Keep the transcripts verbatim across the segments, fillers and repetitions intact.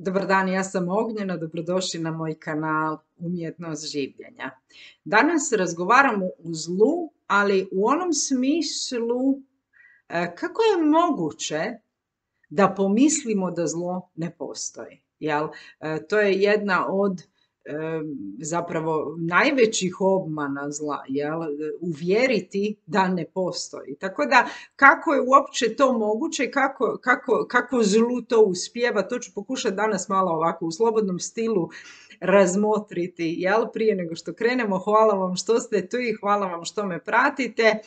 Dobar dan, ja sam Ognjena, dobrodošli na moj kanal Umjetnost življenja. Danas razgovaramo o zlu, ali u onom smislu e, kako je moguće da pomislimo da zlo ne postoji. Jel? E, to je jedna od e, zapravo najvećih obmana zla, jel? Uvjeriti da ne postoji. Tako da kako je uopće to moguće, kako, kako, kako zlu to uspijeva, to ću pokušati danas malo ovako u slobodnom stilu razmotriti, jel? Prije nego što krenemo, hvala vam što ste tu i hvala vam što me pratite. E,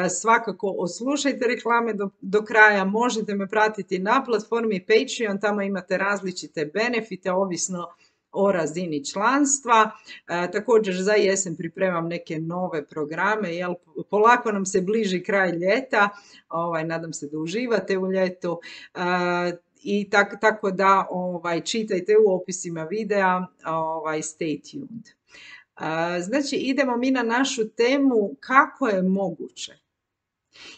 svakako oslušajte reklame do, do kraja, možete me pratiti na platformi Patreon, tamo imate različite benefite, ovisno o razini članstva. E, također za jesen pripremam neke nove programe, jel? Polako nam se bliži kraj ljeta, ovaj, nadam se da uživate u ljetu. E, I tako, tako da ovaj, čitajte u opisima videa, ovaj, stay tuned. Uh, znači idemo mi na našu temu kako je moguće.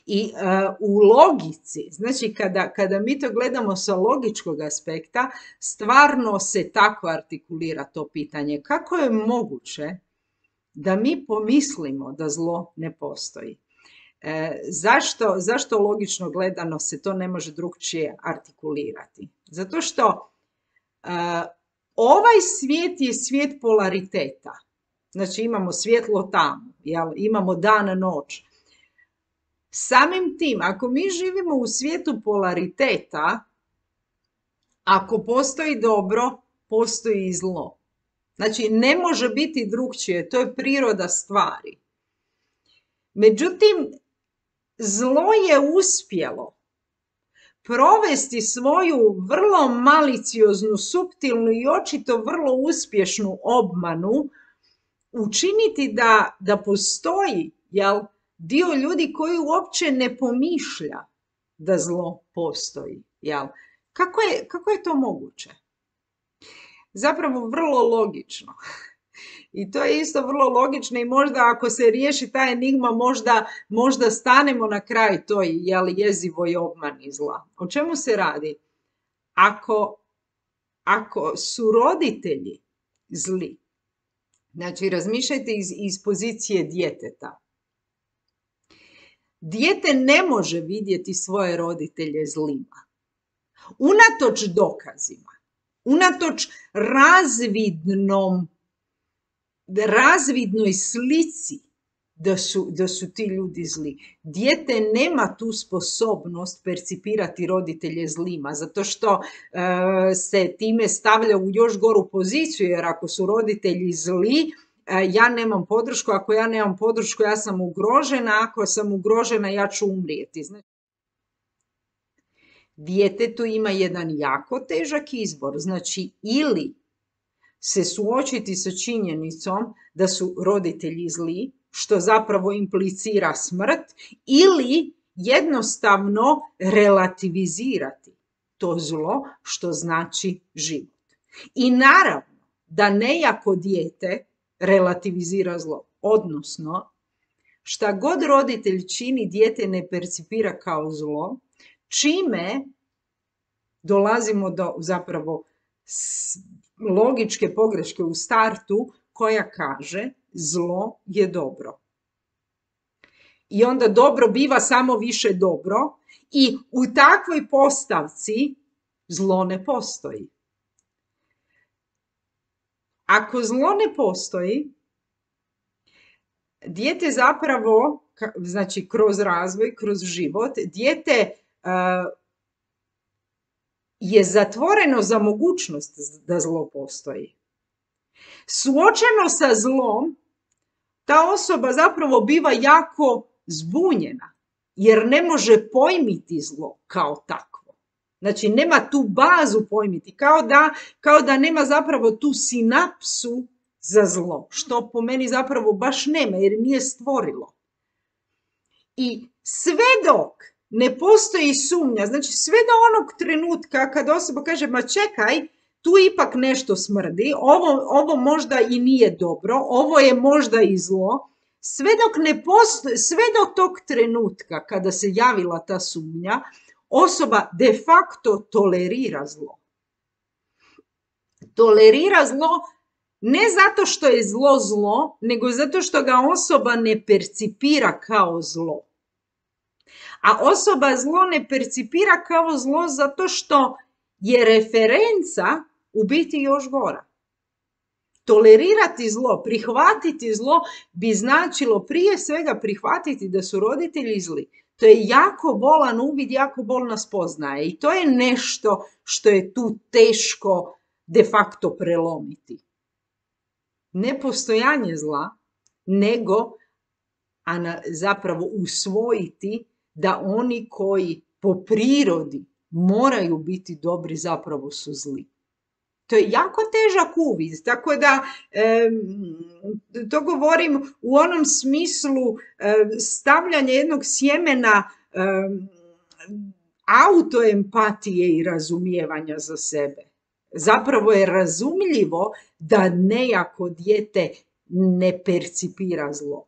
I uh, u logici, znači kada, kada mi to gledamo sa logičkog aspekta, stvarno se tako artikulira to pitanje. Kako je moguće da mi pomislimo da zlo ne postoji? E, zašto, zašto logično gledano se to ne može drukčije artikulirati? Zato što e, ovaj svijet je svijet polariteta. Znači imamo svjetlo tamo, jel? Imamo dan, noć. Samim tim, ako mi živimo u svijetu polariteta, ako postoji dobro, postoji i zlo. Znači ne može biti drukčije, to je priroda stvari. Međutim, zlo je uspjelo provesti svoju vrlo malicioznu, suptilnu i očito vrlo uspješnu obmanu, učiniti da, da postoji, jel, dio ljudi koji uopće ne pomišlja da zlo postoji. Jel? Kako je, kako je to moguće? Zapravo vrlo logično. I to je isto vrlo logično i možda ako se riješi ta enigma, možda, možda stanemo na kraj toj, jel, jezivoj obmani zla. O čemu se radi? Ako, ako su roditelji zli, znači razmišljajte iz, iz pozicije djeteta. Dijete ne može vidjeti svoje roditelje zlima. Unatoč dokazima, unatoč razvidnom razvidnoj slici da su, da su ti ljudi zli. Dijete nema tu sposobnost percipirati roditelje zlima, zato što e, se time stavlja u još goru poziciju, jer ako su roditelji zli, e, ja nemam podršku, ako ja nemam podršku, ja sam ugrožena, ako sam ugrožena, ja ću umrijeti. Znači, djetetu ima jedan jako težak izbor, znači ili se suočiti sa činjenicom da su roditelji zli, što zapravo implicira smrt, ili jednostavno relativizirati to zlo, što znači život. I naravno da nejako dijete relativizira zlo, odnosno šta god roditelj čini, dijete ne percipira kao zlo, čime dolazimo do zapravo logičke pogreške u startu koja kaže zlo je dobro. I onda dobro biva samo više dobro i u takvoj postavci zlo ne postoji. Ako zlo ne postoji, dijete zapravo, znači kroz razvoj, kroz život, dijete uh, je zatvoreno za mogućnost da zlo postoji. Suočeno sa zlom, ta osoba zapravo biva jako zbunjena, jer ne može pojmiti zlo kao takvo. Znači, nema tu bazu pojmiti, kao da, kao da nema zapravo tu sinapsu za zlo, što po meni zapravo baš nema, jer nije stvorilo. I sve dok ne postoji sumnja, znači sve do onog trenutka kad osoba kaže, ma čekaj, tu ipak nešto smrdi, ovo, ovo možda i nije dobro, ovo je možda i zlo, sve dok ne postoji, sve do tog trenutka kada se javila ta sumnja, osoba de facto tolerira zlo. Tolerira zlo ne zato što je zlo zlo, nego zato što ga osoba ne percipira kao zlo. A osoba zlo ne percipira kao zlo zato što je referenca u biti još gora. Tolerirati zlo, prihvatiti zlo bi značilo prije svega prihvatiti da su roditelji zli. To je jako bolan uvid, jako bolna spoznaja i to je nešto što je tu teško de facto prelomiti. Ne postojanje zla, nego a zapravo usvojiti da oni koji po prirodi moraju biti dobri zapravo su zli. To je jako težak uvid, tako da e, to govorim u onom smislu e, stavljanja jednog sjemena e, autoempatije i razumijevanja za sebe. Zapravo je razumljivo da nejako dijete ne percipira zlo.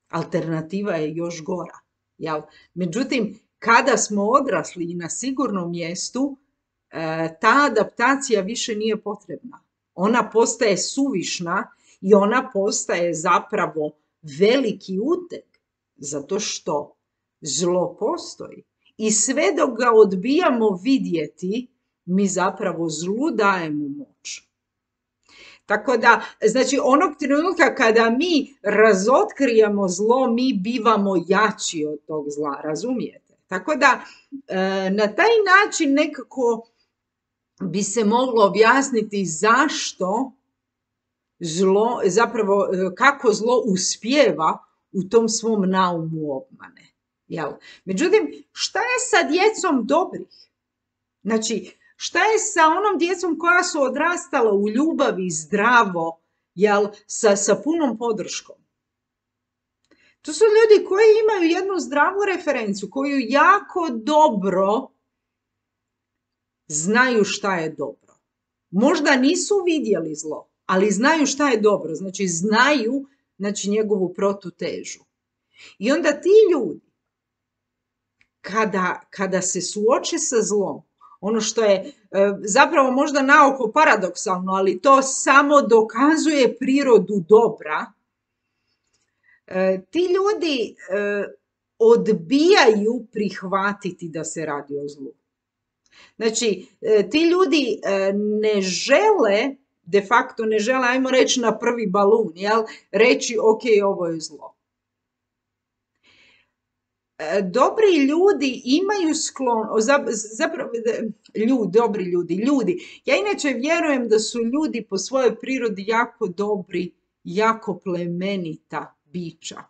Alternativa je još gora. Jel? Međutim, kada smo odrasli i na sigurnom mjestu, ta adaptacija više nije potrebna. Ona postaje suvišna i ona postaje zapravo veliki uteg, zato što zlo postoji. I sve dok ga odbijamo vidjeti, mi zapravo zlu dajemo moć. Tako da, znači, onog trenutka kada mi razotkrijemo zlo, mi bivamo jači od tog zla, razumijete? Tako da, na taj način nekako bi se moglo objasniti zašto zlo, zapravo kako zlo uspijeva u tom svom naumu obmane. Jel? Međutim, šta je sa djecom dobrih? Znači, šta je sa onom djecom koja su odrastala u ljubavi, zdravo, jel, sa, sa punom podrškom? To su ljudi koji imaju jednu zdravu referencu, koju jako dobro znaju šta je dobro. Možda nisu vidjeli zlo, ali znaju šta je dobro. Znači, znaju, znači, njegovu protutežu. I onda ti ljudi, kada, kada se suoče sa zlom, ono što je e, zapravo možda naoko paradoksalno, ali to samo dokazuje prirodu dobra, e, ti ljudi e, odbijaju prihvatiti da se radi o zlu. Znači, e, ti ljudi e, ne žele, de facto ne žele, ajmo reći na prvi balun, jel, reći ok, ovo je zlo. Dobri ljudi imaju sklon, zapravo, ljudi, dobri ljudi, ljudi. Ja inače vjerujem da su ljudi po svojoj prirodi jako dobri, jako plemenita bića.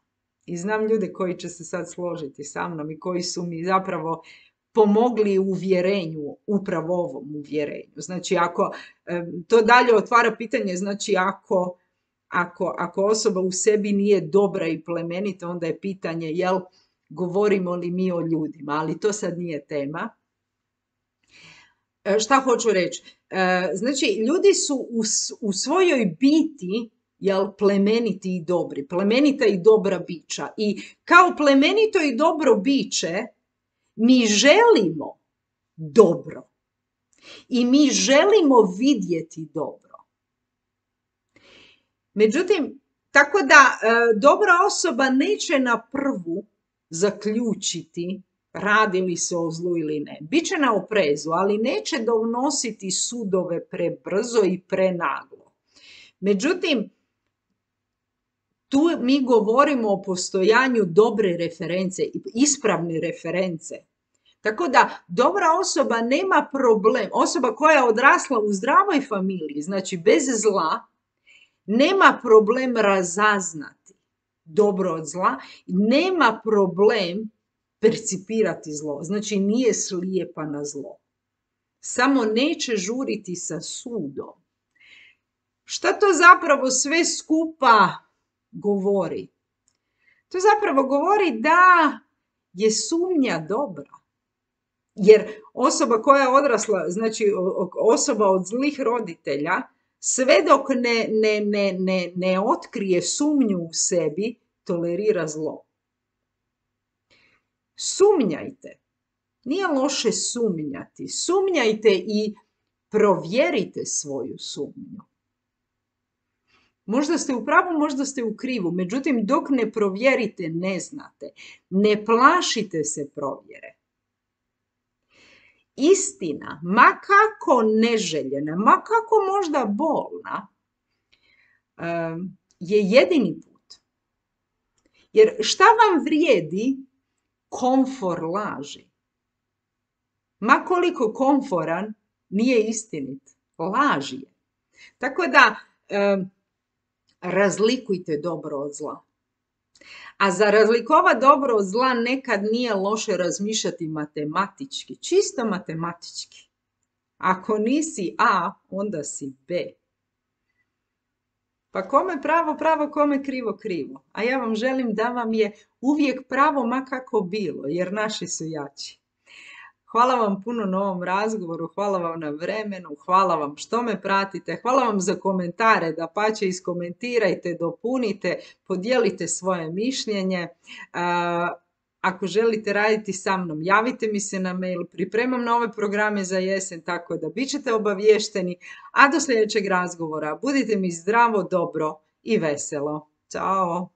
I znam ljude koji će se sad složiti sa mnom i koji su mi zapravo pomogli u uvjerenju, upravo ovom uvjerenju. Znači, ako to dalje otvara pitanje, znači ako, ako, ako osoba u sebi nije dobra i plemenita, onda je pitanje, jel, govorimo li mi o ljudima, ali to sad nije tema. E, šta hoću reći? E, znači, ljudi su u, u svojoj biti, jel, plemeniti i dobri, plemenita i dobra bića. I kao plemenito i dobro biće, mi želimo dobro. I mi želimo vidjeti dobro. Međutim, tako da e, dobra osoba neće na prvu zaključiti radi li se o zlu ili ne. Biće na oprezu, ali neće donositi sudove prebrzo i prenaglo. Međutim, tu mi govorimo o postojanju dobre reference, ispravne reference. Tako da dobra osoba nema problem, osoba koja je odrasla u zdravoj familiji, znači bez zla, nema problem razaznati dobro od zla, nema problem percipirati zlo, znači nije slijepa na zlo. Samo neće žuriti sa sudom. Šta to zapravo sve skupa govori? To zapravo govori da je sumnja dobra. Jer osoba koja je odrasla, znači osoba od zlih roditelja, sve dok ne, ne, ne, ne, ne otkrije sumnju u sebi, tolerira zlo. Sumnjajte. Nije loše sumnjati. Sumnjajte i provjerite svoju sumnju. Možda ste u pravu, možda ste u krivu, međutim dok ne provjerite ne znate. Ne plašite se provjere. Istina, ma kako neželjena, ma kako možda bolna, je jedini put. Jer šta vam vrijedi komfor laži? Ma koliko komforan, nije istinit. Laž je. Tako da razlikujte dobro od zla. A za razlikovat dobro od zla nekad nije loše razmišljati matematički, čisto matematički. Ako nisi A, onda si B. Pa kome pravo, pravo, kome krivo, krivo. A ja vam želim da vam je uvijek pravo ma kako bilo, jer naši su jači. Hvala vam puno na ovom razgovoru, hvala vam na vremenu, hvala vam što me pratite, hvala vam za komentare, dapače iskomentirajte, dopunite, podijelite svoje mišljenje. Ako želite raditi sa mnom, javite mi se na mail, pripremam nove programe za jesen, tako da bit ćete obavješteni, a do sljedećeg razgovora budite mi zdravo, dobro i veselo. Ćao!